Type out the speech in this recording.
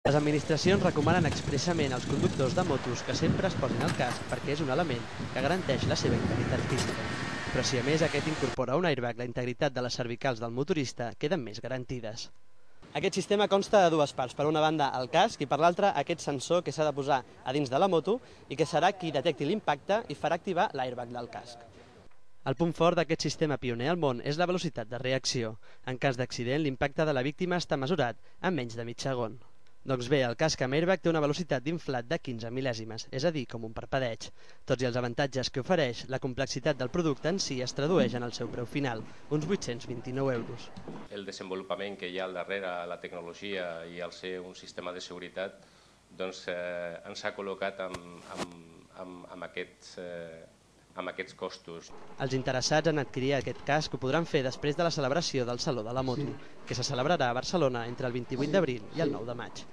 Les administracions recomanen expressament als conductors de motos que sempre es posin el casc perquè és un element que garanteix la seva integritat física. Però si a més aquest incorpora un airbag, la integritat de les cervicals del motorista queden més garantides. Aquest sistema consta de dues parts. Per una banda el casc i per l'altra aquest sensor que s'ha de posar a dins de la moto i que serà qui detecti l'impacte i farà activar l'airbag del casc. El punt fort d'aquest sistema pioner al món és la velocitat de reacció. En cas d'accident, l'impacte de la víctima està mesurat en menys de mig segon. Doncs bé, el casc amb airbag té una velocitat d'inflat de 15 mil·lèsimes, és a dir, com un parpadeig. Tots i els avantatges que ofereix, la complexitat del producte en si es tradueix en el seu preu final, uns 829 euros. El desenvolupament que hi ha al darrere, la tecnologia i el ser un sistema de seguretat, doncs ens ha col·locat amb aquests costos. Els interessats en adquirir aquest casc ho podran fer després de la celebració del Saló de la Moto, que se celebrarà a Barcelona entre el 28 d'abril i el 9 de maig.